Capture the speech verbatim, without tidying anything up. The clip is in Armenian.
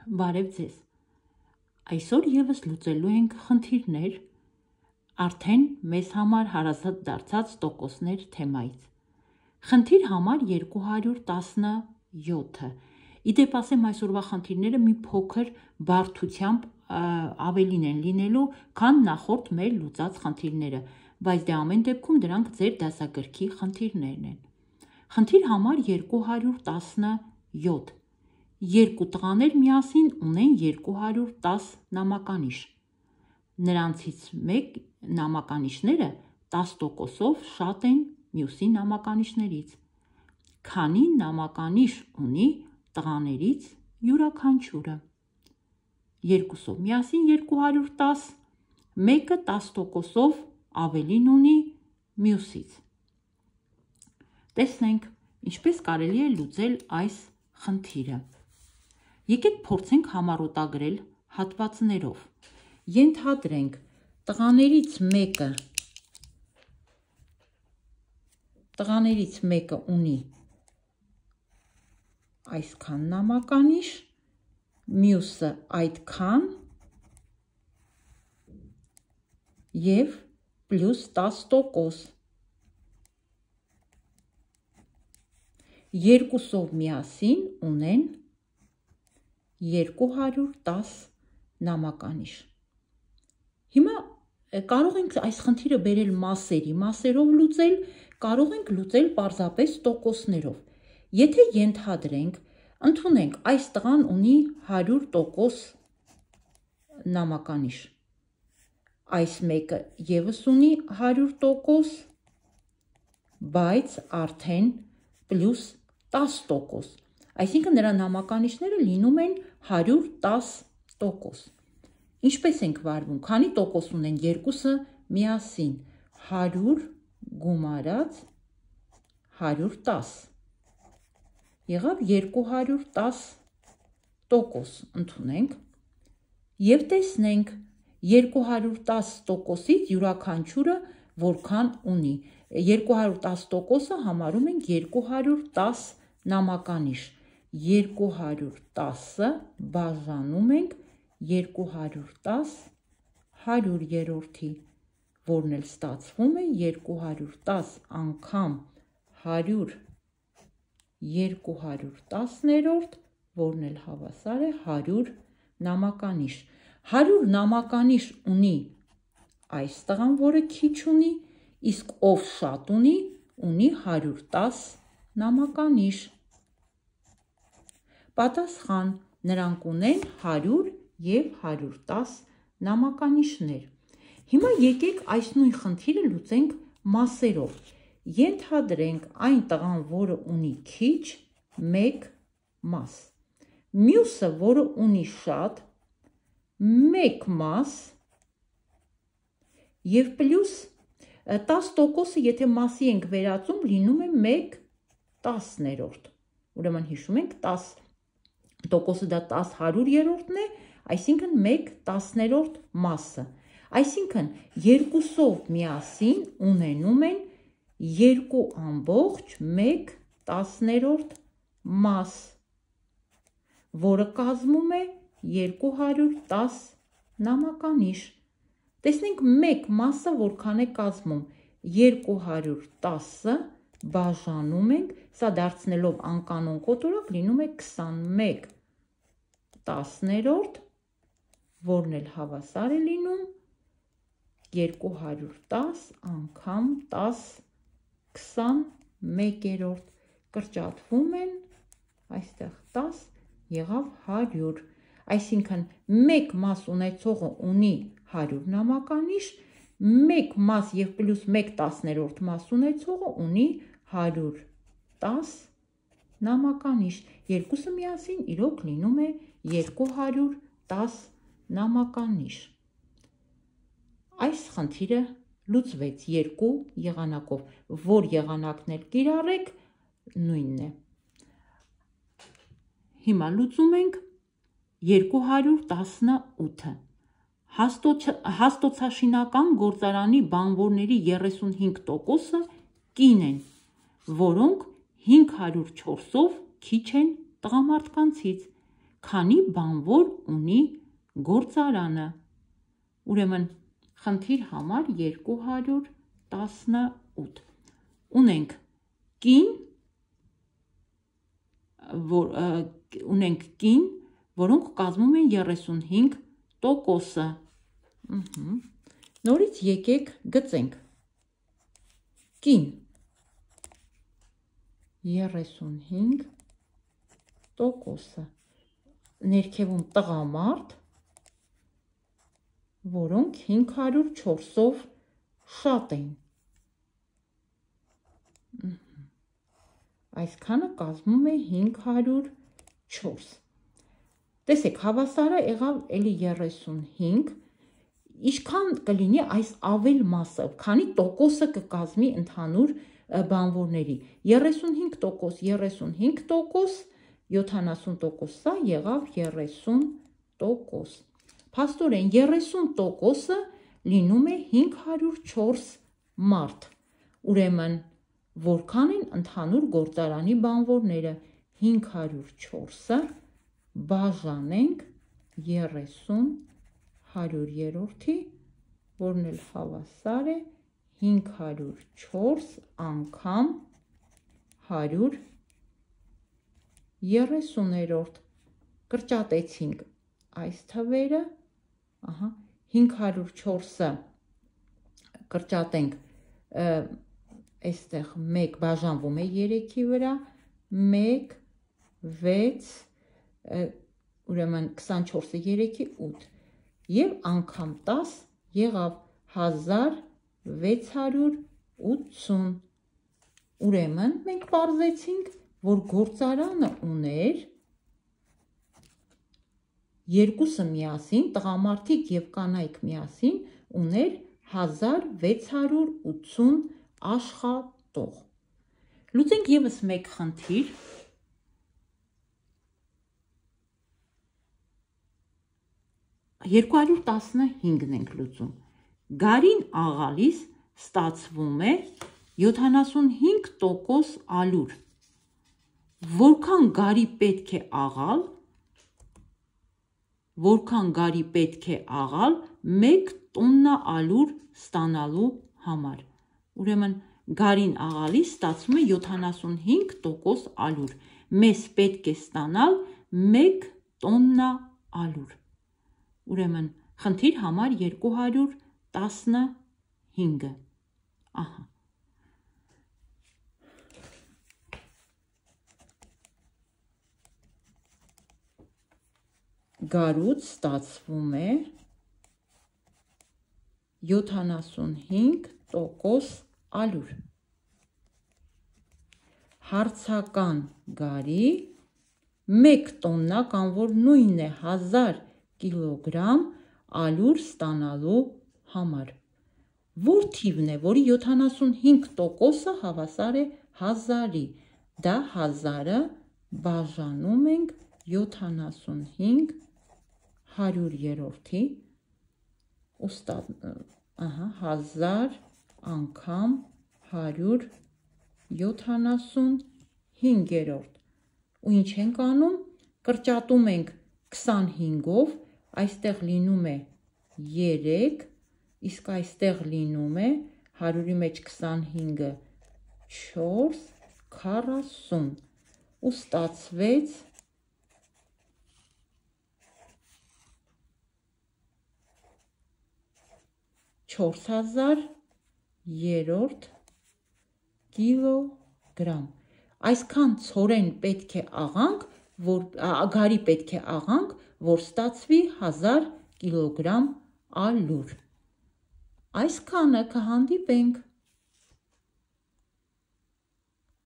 Բարև ձեզ։ Այսօր եւս լուծելու ենք խնդիրներ արդեն մեզ համար հարազատ դարձած տոկոսներ թեմայից։ Խնդիր համար երկու հարյուր տասնյոթը։ Իդեպ ասեմ, այսօրվա խնդիրները մի փոքր բարդությամբ ավելին են լինելու, քան նախորդ մեր լուծած խնդիրները, բայց դե ամեն դեպքում դրանք ձեր դասագրքի խնդիրներն են։ Խնդիր համար երկու հարյուր տասնյոթ։ Երկու տղաներ միասին ունեն երկու հարյուր տաս նամականիշ։ Նրանցից մեկ նամականիշները տաս տոկոսով շատ են մյուսի նամականիշներից։ Քանի նամականիշ ունի տղաներից յուրաքանչյուրը։ Երկուսով միասին երկու հարյուր տաս, մեկը տաս տոկոսով ավելին ունի մյուսից։ Տեսնենք, ինչպես կարելի է լուծել այս խնդիրը։ Եկեք փորձենք համառոտագրել հատվածներով։ Ենթադրենք, տղաներից մեկը տղաներից մեկը ունի այսքան նամականիշ, մյուսը այդքան և պլյուս տաս տոկոս։ Երկուսով միասին ունեն երկու հարյուր տաս նամականիշ։ Հիմա կարող ենք այս խնդիրը բերել մասերի, մասերով լուծել, կարող ենք լուծել պարզապես տոկոսներով։ Եթե ենթադրենք, ընդունենք, այս տղան ունի հարյուր տոկոս նամականիշ, այս մեկը ևս ունի հարյուր տոկոս, բայց արդեն պլյուս տաս տոկոս, այսինքն նրա նամականիշները լինում են հարյուր տաս տոկոս։ Ինչպես ենք վարվում, քանի տոկոս ունեն երկուսը միասին, հարյուր գումարած հարյուր տաս, եղավ երկու հարյուր տաս տոկոս, ընդունենք և տեսնենք երկու հարյուր տաս տոկոսից յուրաքանչյուրը որքան ունի։ երկու հարյուր տաս տոկոսը համարում ենք երկու հարյուր տաս նամականիշ, երկու հարյուր տասը բաժանում ենք երկու հարյուր տաս հարյուր երորդի, որն էլ ստացվում է երկու հարյուր տաս անգամ հարյուր երկու հարյուր տասներորդ, որն էլ հավասար է հարյուր նամականիշ։ հարյուր նամականիշ ունի այս տղան, որը քիչ ունի, իսկ ով շատ ունի, ունի հարյուր տաս նամականիշ։ Պատասխան. նրանք ունեն հարյուր և հարյուր տաս նամականիշներ։ Հիմա եկեք այս նույն խնդիրը լուծենք մասերով։ Ենթադրենք այն տղան, որը ունի քիչ, մեկ մաս, մյուսը, որը ունի շատ, մեկ մաս և պլյուս տաս տոկոսը, եթե մասի ենք վերածում, լինում է մեկ տասներորդ։ Ուրեմն հիշում ենք, տաս տոկոսը դա տաս հարյուր երորդն է, այսինքն մեկ տասներորդ մասը։ Այսինքն երկուսով միասին ունենում են երկու ամբողջ մեկ տասներորդ մաս, որը կազմում է երկու հարյուր տաս նամականիշ։ Տեսնենք մեկ մասը որքան է կազմում, երկու հարյուր տասը բաժանում ենք, սա դարձնելով անկանոն կոտորակ լինում է քսանմեկ տասներորդ, որն էլ հավասար է լինում երկու հարյուր տաս անգամ տաս քսանմեկերորդ, կրճատվում են, այստեղ տաս, եղավ հարյուր, այսինքն մեկ մաս ունեցողը ունի հարյուր նամականիշ, մեկ մաս և պլյուս մեկ տասներորդ մաս ունեցողը ունի հարյուր տաս նամականիշ, երկուսը միասին իրոք լինում է երկու հարյուր տաս նամականիշ։ Այս խնդիրը լուծվեց երկու եղանակով, որ եղանակն էլ կիրառեք, նույնն է։ Հիմա լուծում ենք երկու հարյուր տասնութը։ Հաստոցաշինական գործարանի բանվորների երեսունհինգ տոկոսը կին են, որոնք հինգ հարյուր չորսով քիչ են տղամարդկանցից։ քանի բանվոր ունի գործարանը։ Ուրեմն խնդիր համար երկու հարյուր տասնութ։ Ունենք կին, որ, ունենք կին, որոնք կազմում են երեսունհինգ տոկոսը։ Նորից եկեք գծենք։ Կին երեսունհինգ տոկոսը, ներքևում տղամարդ, որոնք հինգ հարյուր չորսով շատ են։ Այսքանը կազմում է հինգ հարյուր չորս։ Տեսեք, հավասարը եղավ էլի երեսունհինգ, ինչքան կլինի այս ավել մասը, քանի տոկոսը կկազմի ընդհանուր բանվորների։ երեսունհինգ տոկոս, երեսունհինգ տոկոս, յոթանասուն տոկոս, սա եղավ երեսուն տոկոս։ Փաստորեն երեսուն տոկոսը լինում է հինգ հարյուր չորս մարդ։ Ուրեմն որքան են ընդհանուր գործարանի բանվորները, հինգ հարյուր չորսը բաժանենք երեսուն հարյուր երորդի, որն էլ հավասար է հինգ հարյուր չորս անգամ հարյուր երեսուներորդ։ Կրճատեցինք այս թվերը, ահա, հինգ հարյուր չորսը կրճատենք, այստեղ մեկ բաժանվում է երեքի վրա, մեկ, վեց, ուրեմն քսանչորսը երեքի ութ, և անգամ տաս եղավ հազար վեց հարյուր ութսուն։ Ուրեմն մենք պարզեցինք, որ գործարանը ուներ երկուսը միասին, տղամարդիկ և կանայք միասին ուներ հազար վեց հարյուր ութսուն աշխատող։ Լուծենք ևս մեկ խնդիր։ երկու հարյուր տասնհինգն ենք լուծում։ Գարին աղալիս ստացվում է յոթանասունհինգ տոկոս ալյուր։ Որքան գարի պետք է աղալ, որքան գարի պետք է աղալ մեկ տոննա ալյուր ստանալու համար։ Ուրեմն գարին աղալիս ստացվում է յոթանասունհինգ տոկոս ալյուր։ Մեզ պետք է ստանալ մեկ տոննա ալյուր։ Ուրեմն խնդիր համար երկու հարյուր տասնհինգը։ Ահա։ Գարուց ստացվում է յոթանասունհինգ տոկոս ալյուր։ Հարցական գարի մեկ տոննա, կամ որ նույնն է հազար կիլոգրամ ալյուր ստանալու համար։ Որ թիվն է, որի յոթանասունհինգ տոկոսը հավասար է հազարի, դա հազարը բաժանում ենք յոթանասունհինգ հարյուր երորդի, հազար անգամ հարյուր յոթանասունհինգերորդ։ Ու ինչ ենք անում, կրճատում ենք քսանհինգով, այստեղ լինում է երեք, իսկ այստեղ լինում է հարյուրի մեջ քսանհինգը չորս, քառասուն, ու ստացվեց չորս հազար երորդ կիլոգրամ։ Այսքան ցորեն պետք է աղանք, որ գարի պետք է աղանք, որ ստացվի հազար կիլոգրամ ալյուր։ Այսքանը կհանդիպենք։